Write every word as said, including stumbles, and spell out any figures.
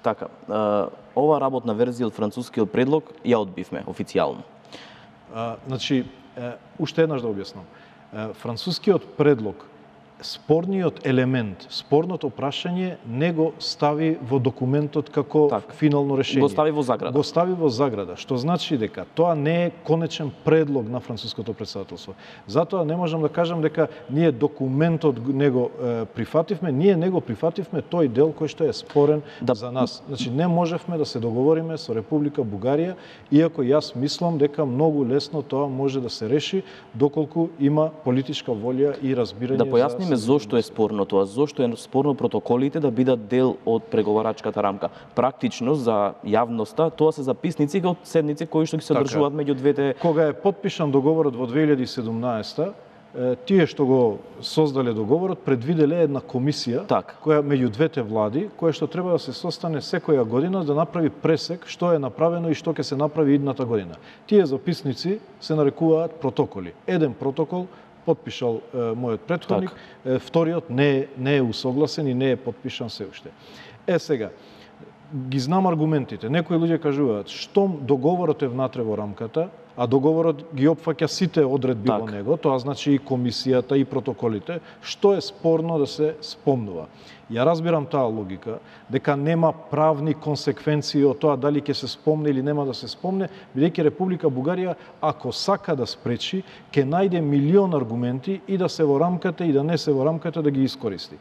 Така, ова работна верзија од францускиот предлог ја одбивме официјално. А, значи, е, уште еднаш да објаснам. Е, францускиот предлог, спорниот елемент, спорното прашање не го стави во документот како так, финално решение. Го стави во заграда. Го стави во заграда, што значи дека тоа не е конечен предлог на француското претседателство. Затоа не можам да кажам дека ние документот не го е, прифативме, ние не го прифативме тој дел кој што е спорен да, за нас. Значи не можевме да се договориме со Република Бугарија, иако јас мислам дека многу лесно тоа може да се реши доколку има политичка волја и разбирање. Да појасниме зошто е спорно тоа, зошто е спорно протоколите да бидат дел од преговарачката рамка. Практично за јавноста тоа се записници од седници кои што ги се одржуваат меѓу двете. Кога е подпишан договорот во две илјади и седумнаесета, тие што го создале договорот предвиделе една комисија так, која меѓу двете влади, која што треба да се состане секоја година да направи пресек што е направено и што ќе се направи идната година. Тие записници се нарекуваат протоколи. Еден протокол подпишал е, мојот претходник, так, вториот не, не е усогласен и не е подпишан се уште. Е сега, ги знам аргументите. Некои луѓе кажуваат, штом договорот е внатре во рамката, а договорот ги опфаќа сите одредби так, во него, тоа значи и комисијата и протоколите, што е спорно да се спомнува. Ја разбирам таа логика, дека нема правни консеквенции од тоа дали ќе се спомне или нема да се спомне, бидејќи Република Бугарија, ако сака да спречи, ќе најде милион аргументи и да се во рамката и да не се во рамката да ги искористи.